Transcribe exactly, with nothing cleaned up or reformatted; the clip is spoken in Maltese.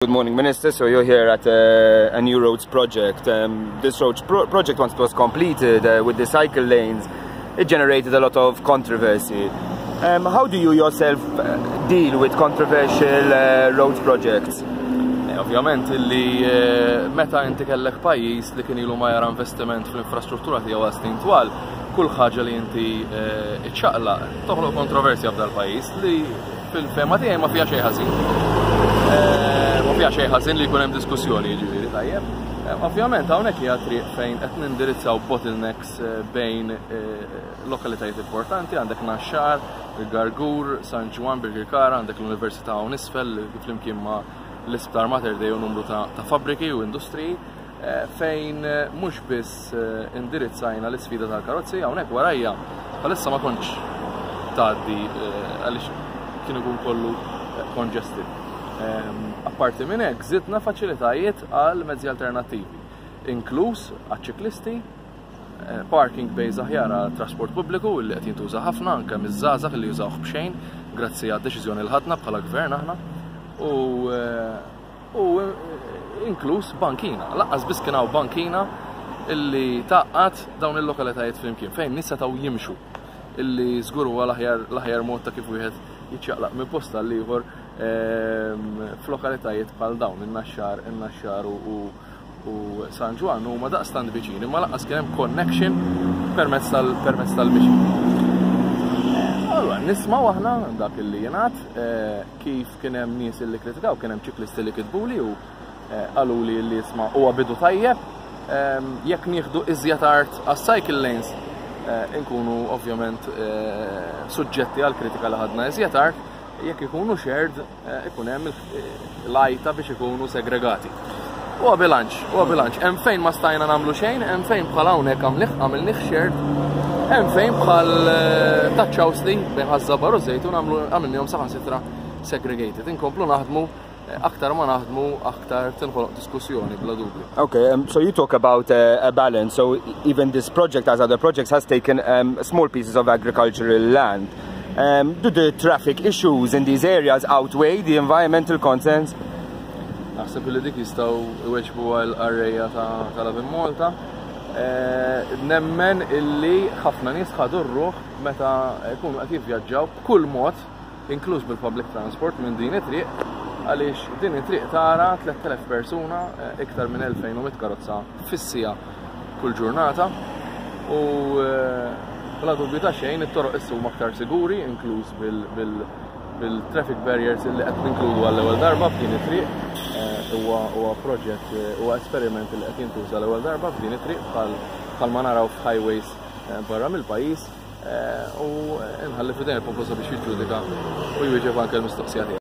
Good morning, Minister. So you're here at uh, a new roads project. Um, this roads pro project, once it was completed uh, with the cycle lanes, it generated a lot of controversy. Um, how do you yourself uh, deal with controversial uh, roads projects? Eh, ovvjament illi eh, meta inti kellek pajjiż li kien ilu ma jara investiment fl-infrastruttura tiegħu għal snin twal, kull ħaġa li inti eh, iċċaqlaq toħloq kontroversja f'dal pajjiż li fil-fehma tiegħi ma fiha xejn ħażin. Ma fiha xejn ħażin li jkun hemm diskussjoni, jiġifieri tajjeb. Ovvjament hawnhekk hija triq fejn qed nindirizzaw bottlenecks bejn lokalitajiet importanti, għandek Naxxar, il-Gargur, San Ġwann, Birkirkara, għandek l-Università hawn isfel flimkien ma' l-Isptar Mater Dei u numru ta' fabbriki u industriji, fejn mhux biss indirizzajna l-isfida tal-karozzi. Hawnhekk warajja bħalissa ma kontx tgħaddi għaliex kien ikun kollu congested. Apparti minn hekk, żidna faċilitajiet għal mezzi alternattivi, inkluż għaċ-ċiklisti, parking bays aħjar għal trasport pubbliku li qed jintuża ħafna anke miż-żgħażagħ li jużawh b'xejn grazzi għad-deċiżjoni li ħadna bħala gvern aħna u u inkluż bankina. Lanqas biss kien hawn bankina illi tgħaqqad dawn il-lokalitajiet flimkien fejn nies setgħu jimxu, illi żgur huwa l-aħjar mod ta' kif wieħed jiċċaqlaq minn post għal ieħor f'lokalitajiet bħal dawn in-Naxxar, in-Naxxar u u San Ġwann huma daqstant viċini, ma lanqas kien hemm connection permezz tal permezz tal-mixi. Allura nismgħu aħna dak illi jingħad, kif kien hemm nies illi kritikaw, kien hemm ċiklisti li kitbuli u qaluli li isma' huwa bidu tajjeb, jekk nieħdu iżjed art għas-cycle lanes inkunu ovvjament suġġetti għal kritika li ħadna iżjed art, jekk ikunu shared ikun hemm l-għajta biex ikunu segregati. Huwa bilanċ, huwa bilanċ. Hemm fejn ma stajna nagħmlu xejn, hemm fejn bħal hawnhekk għamilnih shared, hemm fejn bħal taċ-Ċawsli bejn Ħaż-Żabbar u Żejtun għamilnihom saħansitra segregated. Inkomplu naħdmu, aktar ma naħdmu aktar tinħoloq diskussjoni, bla dubju. Okay, um, so you talk about uh, a balance. So even this project, as other projects, has taken um, small pieces of agricultural land. Um, do the traffic issues in these areas outweigh the environmental concerns? Naħseb li dik jistgħu iweġbu għal qarrejja ta' Lovin Malta. Nemmen illi ħafna nies ħadu r-ruħ meta jkunu qed jivvjaġġaw b'kull mod, inkluż bil-public transport minn din it-triq, għaliex din it-triq tara tlett elef persuna, iktar minn elfejn u mitt karozza fis-siegħa kull ġurnata, u bla dubju ta' xejn it-toroq issa huma aktar siguri, inkluż bil-traffic barriers illi qed ninkludu għall-ewwel darba f'din it-triq. Huwa proġett, huwa esperiment li qed jintuża l-ewwel darba f'din it-triq bħal ma naraw f'highways barra mill-pajjiż, u nħalli f'idejn il-poplu sabiex jiġġudika u jwieġeb anke l-mistoqsija tiegħek.